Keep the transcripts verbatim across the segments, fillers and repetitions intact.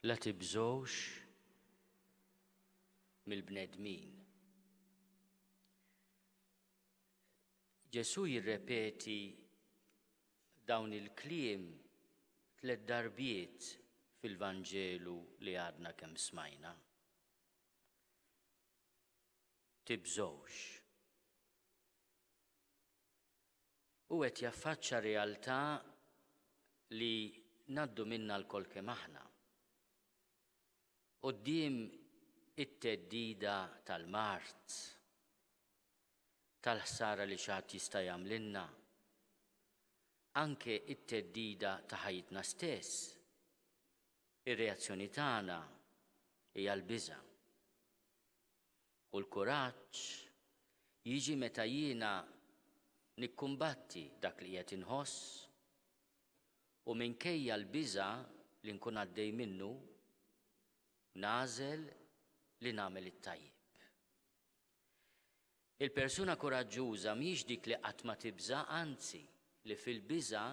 La tibżgħux mill-bnedmin. Ġesù jirrepeti dawn il-kliem tliet darbiet fil-Vanġelu li għadna kemm smajna. Tibżgħux. Hu qed jaffaċċa realtà li ngħaddu minnha lkoll kemm aħna. Quddiem it-theddida tal-mard, tal-ħsara li xi ħadd jista' jagħmlilna, anke it-theddida ta' ħajjitna stess, ir-reazzjoni tagħna hija l-biża'. U l-kuraġġ jiġi meta jiena nikkumbatti dak li qiegħed inħoss u minkejja l-biża' li nkun għaddej minnu, nagħżel li nagħmel it-tajjeb. Il-persuna kuraġġuża mhijiex dik li qatt ma tibża', anzi li fil-biża'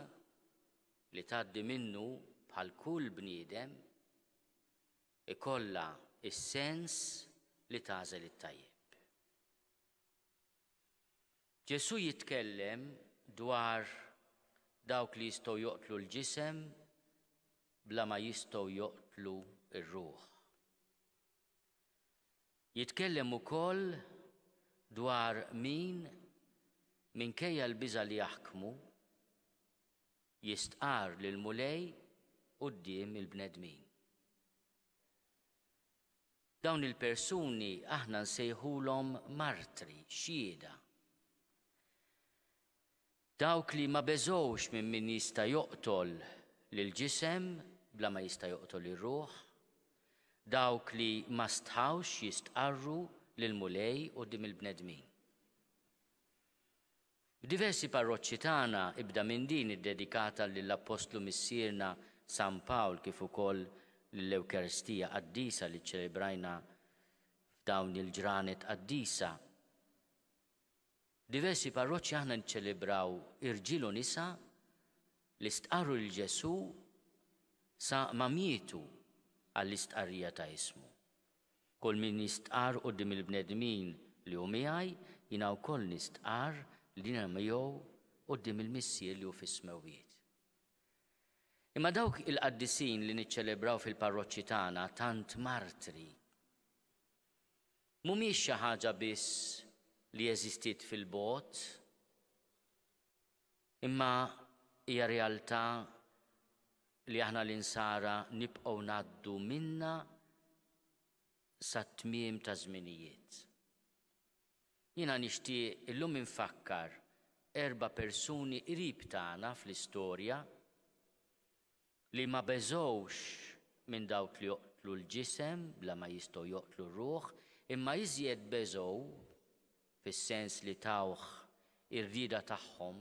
li tgħaddi minnu bħal kull bniedem ikollha s-sens li tagħżel it-tajjeb. Ġesù jitkellem dwar dawk li jistgħu joqtlu l-ġisem bla ma jistgħu joqtlu r-ruħ. Jitkellem ukoll dwar min minkejja l-biża' li jaħkmu jistqarr lill-Mulej quddiem il-bnedmin. Dawn il-persuni aħna nsejħulhom martri, xhieda. Dawk li ma beżgħux minn min jista' joqtol lill-ġisem bla ma jista' joqtol ir-ruħ, dawk li ma stħawx jistqarru lill-Mulej quddiem il-bnedmin. F'diversi parroċċi tagħna, ibda minn din iddedikata lill-Appostlu Missierna San Pawl kif ukoll lill-Ewkaristija Qaddisa li ċċelebrajna f'dawn il-ġranet qaddisa, f'diversi parroċċi aħna niċċelebraw irġiel u nisa li stqarru lil Ġesù sa ma mietu għall-istqarrija ta' ismu. Kull min jistqarr quddiem il-bnedmin li hu miegħi, jiena wkoll nistqarr li jiena miegħu quddiem il-Missier li hu fis-smewwiet. Imma dawk il-qaddisin li niċċelebraw fil-parroċċi tagħna tant martri, mhumiex xi ħaġa biss li eżistiet fil-bogħod, imma hija realtà li aħna l-insara nibqgħu ngħaddu minnha sat-tmiem ta' żminijiet. Jiena nixtieq illum infakkar erba' persuni qrib tagħna fl-istorja li ma beżgħux minn dawk li joqtlu l-ġisem bla ma jistgħu joqtlu r-ruħ, imma iżjed beżgħu fis-sens li tawh ir-rieda tagħhom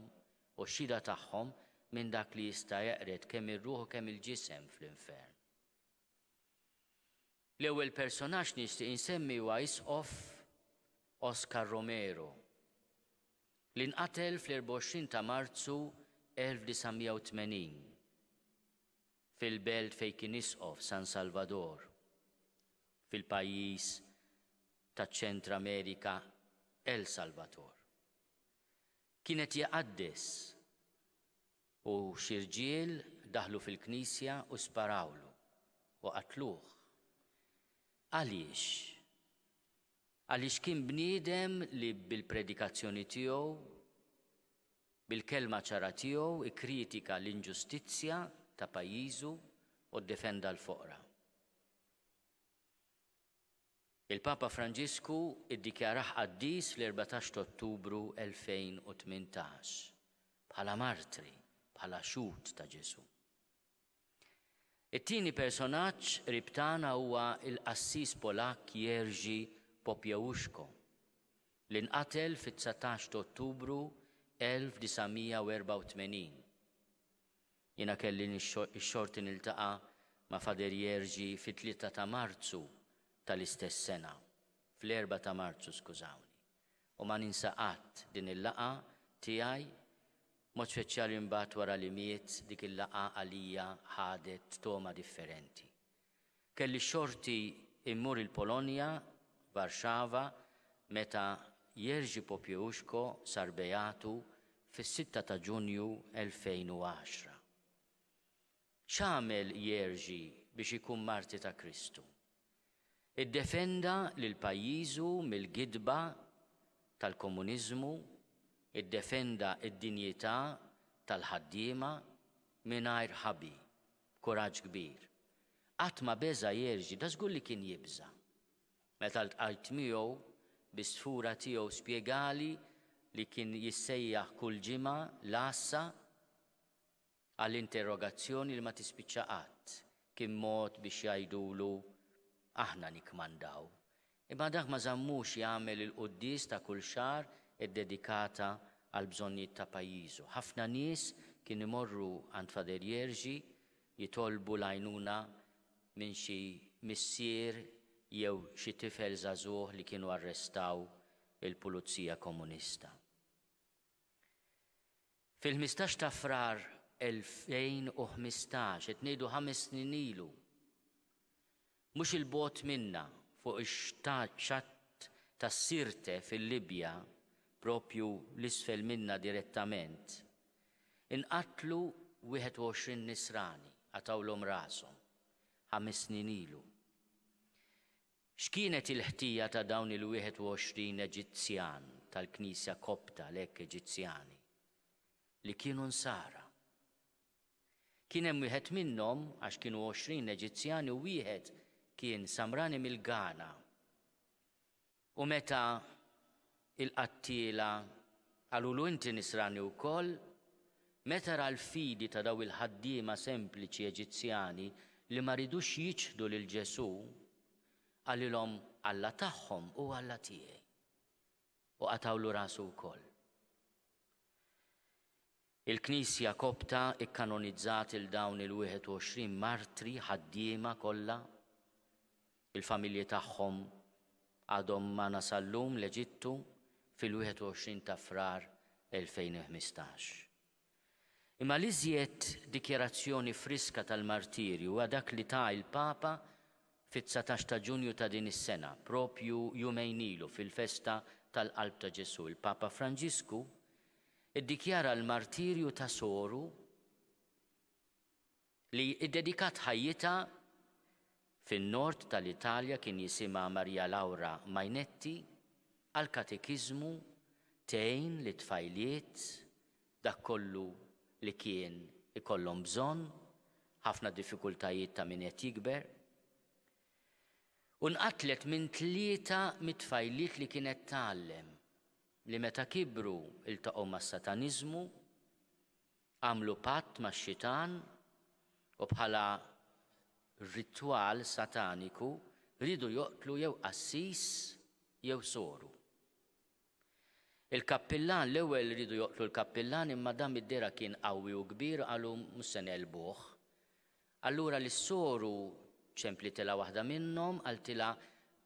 u x-xhieda tagħhom minn dak li jista' jeqred kemm ir-ruħ u kemm il-ġisem fl-infern. L-ewwel personaġġ nixtieq insemmi huwa Isqof Oscar Romero, li nqatel fl-erbgħa u għoxrin ta' Marzu elf disa' mija u tmenin fil-belt fejn kien isqof San Salvador, fil-pajjiż taċ-Ċentr Amerika El Salvador. Kien qed jqaddes u xi rġiel daħlu fil-knisja u sparawlu u qatluh. Għaliex? Għaliex kien bniedem li bil-predikazzjoni tiegħu, bil-kelma ċara tiegħu, ikkritika l-inġustizzja ta' pajjiżu u ddefenda l-foqra. Il-Papa Franġisku iddikjarah qaddis fl-erbatax ta' Ottubru elfejn u tmintax bħala martri, bħala xhud ta' Ġesù. It-tieni personaġġ qrib tagħna huwa l-qassis Polakk Jerzy Popiełuszko, li nqatel fit-dsatax ta' Ottubru elf disa' mija u erbgħa u tmenin. Jiena kelli x-xorti niltaqa' ma' Fader Jerzy fit-tlieta ta' Marzu tal-istess sena, fl-erbgħa ta' Marzu, skużawni. U ma ninsa qatt din il-laqgħa tiegħi, mod speċjali mbagħad wara li miet, dik il-laqgħa għalija ħadet togħma differenti. Kelli xorti immur il-Polonja, Varxava, meta Jerzy Popiełuszko sar beatu fis-sitta ta' Ġunju elfejn u għaxra. X'għamel Jerzy biex ikun marti ta' Kristu? Iddefenda lil pajjiżu mill-gidba tal-komuniżmu, iddefenda id-dinjità tal-ħaddiema mingħajr ħabi, b'kuraġġ kbir. Qatt ma beża' Jerzy, da żgur li kien jibża'. Meta ltqajt miegħu, bi sfura tiegħu spjegali li kien jissejjaħ kull ġimgħa l-għassa għall-interrogazzjoni li ma tispiċċa qatt. Kien mod biex jgħidulu aħna nikmandaw. Imma dak ma żammux jagħmel il-quddies ta' kull xahar iddedikata għal bżonnijiet ta' pajjiżu. Ħafna nies kien imorru għand Father Jerzy jitolbu l-għajnuna minn xi missier jew xi tifel żagħżugħ li kienu arrestaw il-Pulizija Komunista. Fil-ħmistax ta' Frar elfejn u ħmistax, qed ngħidu ħames snin ilu, mhux il-bogħod minna fuq ix-xatt tas-Sirte fil-Libja, propju l-isfel minna direttament, inqatlu wieħed u għoxrin nisrani, għatawlhom rashom, ħames snin ilu. X'kienet il-ħtija ta' dawn il-wieħed u għoxrin Eġizzjan tal-Knisja Kopta, lek Eġizzjani, li kienu nsara? Kien hemm wieħed minnhom, għax kienu għoxrin Eġizzjani u wieħed kien Samrani mill-Ghana. U meta il-qattiela qalulu inti nisrani wkoll, meta ra l-fidi ta' daw il-ħaddiema sempliċi Eġizzjani li ma ridux jiċħdu lil Ġesù, qalilhom Alla tagħhom u Alla tiegħi. U qatawlu rasu wkoll. Il-Knisja Kopta ikkanonizzat il dawn il-wieħed u għoxrin martri ħaddiema kollha. Il-familji tagħhom għadhom magħna sal-lum l-Eġittu fil-wieħed u għoxrin ta' Frar elfejn u ħmistax. Imma l-iżjed dikjarazzjoni friska tal-martirju huwa dak li ta il-Papa fit-dsatax ta' Ġunju ta' din is-sena, propju jumejn ilu fil-festa tal-Qalb ta' Ġesù. Il-Papa Franġisku iddikjara l-martirju ta' soru li iddedikat ħajjitha fin-nord tal-Italja, kien jisimha Maria Laura Mainetti, għal katekiżmu tgħin li tfajliet dak kollu li kien ikollhom bżonn, ħafna diffikultajiet ta' min qed jikber. U nqatlet minn tlieta mit-tfajliet li kienet tgħallem, li meta kibru iltaqgħu mas-sataniżmu, għamlu patt max-xitan u bħala ritwal sataniku riedu joqtlu jew qassis jew soru. Il-kappillan, l-ewwel riedu joqtlu l-kappillan, imma dan id-dera kien qawwi u kbir, qalu mhux se nelbuh. Allura lis-soru ċemplitilha waħda minnhom, qaltilha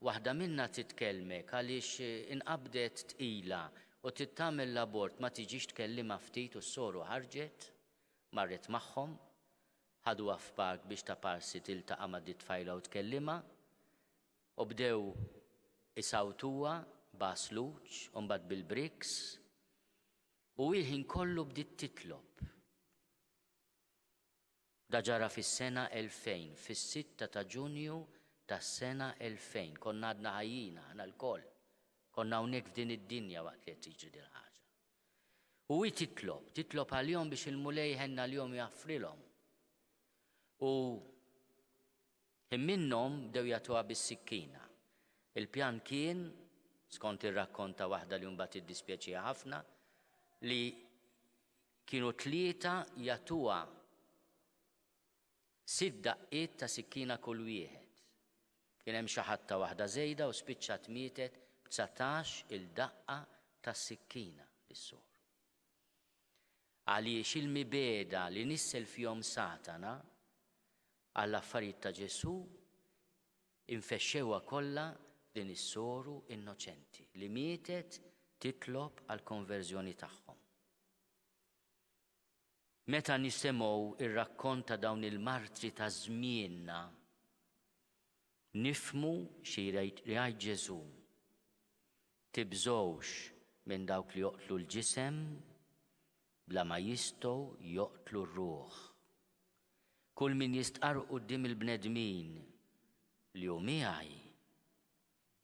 waħda minna titkellmek għaliex inqabdet tqila u trid tagħmel l-abort, ma tiġix tkellimha ftit. U s-soru ħarġet, marret magħhom, ħaduha f'park biex ta' parsi tiltaqa' ma' dit tfajla u tkellimha, u bdew isawtuha b'għasluġ u mbagħad bil-briks, u il-ħin kollu bdiet titlob. Da ġara fis-sena elfejn, fis-sitta ta' Ġunju tas-sena elfejn. Konna għadna ħajjin aħna lkoll. Konna hawnhekk f'din id-dinja waqt li qed tiġri din ħaġa. U hi titlob, titlob għalihom biex il-Mulej ħenna għalihom jaffrilhom. U minnhom bdew jagħtuha bis-sikkina. Il-pjan kien, skont ir-rakkont ta' waħda li mbagħad iddispjaċiha ħafna, li kienu tlieta jagħtuha sitt daqqiet ta' sikkina kull wieħed. Kien hemm xi ħadd ta' waħda żejda u spiċċat mietet b'dsatax il-daqqa ta' sikkina lis-soru. Għaliex il-mibeda li nissel fihom Satana għall-affarijiet ta' Ġesù infexxewha kollha din is-soru innoċenti li mietet titlob għall-konverżjoni tagħhom. Meta nisimgħu ir-rakkont ta' dawn il-martri ta' żmienna, Nifhmu xi jgħid Ġesù. Tibżgħux minn dawk li joqtlu l-ġisem bla ma jistgħu joqtlu r-ruħ. Kull min jistqar quddiem il-bnedmin li hu miegħi,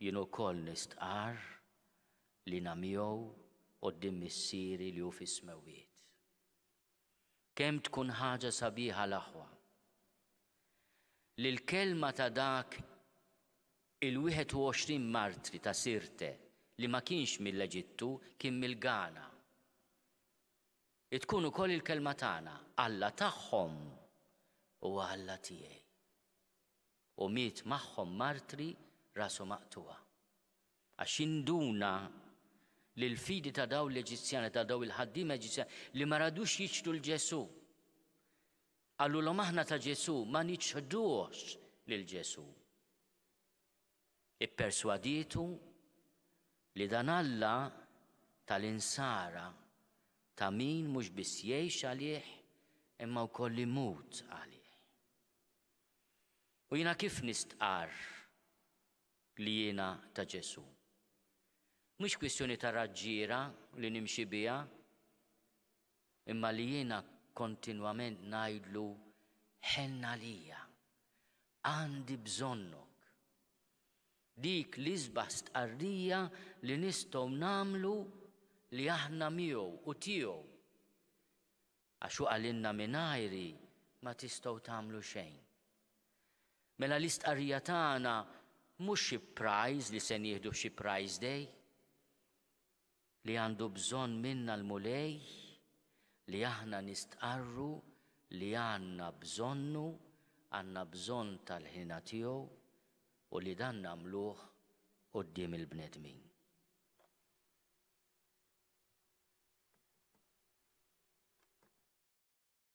jien ukoll nistqar li jiena miegħu quddiem Missieri li hu fis-smewwiet. Kemm tkun ħaġa sabiħa, l-aħwa, li l-kelma ta' dak il-wieħed u għoxrin martri ta' Sirte li ma kienx mill-Eġittu, kien mill-Ghana. Tkun ukoll il-kelma tagħna, Alla tagħhom u Alla tiegħi. U miet magħhom martri rasu maqtugħa. Għax induna li l-fidi ta' daw l-Eġizzjani, ta' daw il-ħaddiema Eġizzjani li ma radux jiċħdu 'l Ġesù. Qalulhom aħna ta' Ġesù, ma niċħdux lil Ġesù. Ipperswadietu li dan Alla tal-insara ta' min mhux biss jgħix għalih imma wkoll imut għalih. U jiena kif nistqar li jiena ta' Ġesù? Mhux kwistjoni ta' raġġiera li nimxi biha, imma li jiena kontinwament ngħidlu ħenn għalija, għandi bżonnok. Dik l-isbaħ stqarrija li nistgħu nagħmlu li aħna miegħu u tiegħu. Għax hu qalilna mingħajri ma tistgħu tagħmlu xejn. Mela l-istqarrija tagħna mhux xi prize li se nieħdu xi prize day, li għandu bżonn minna l-Mulej li aħna nistqarru li għandna bżonnu, għandna bżonn tal-ħniena tiegħu u li dan nagħmluh quddiem il-bnedmin.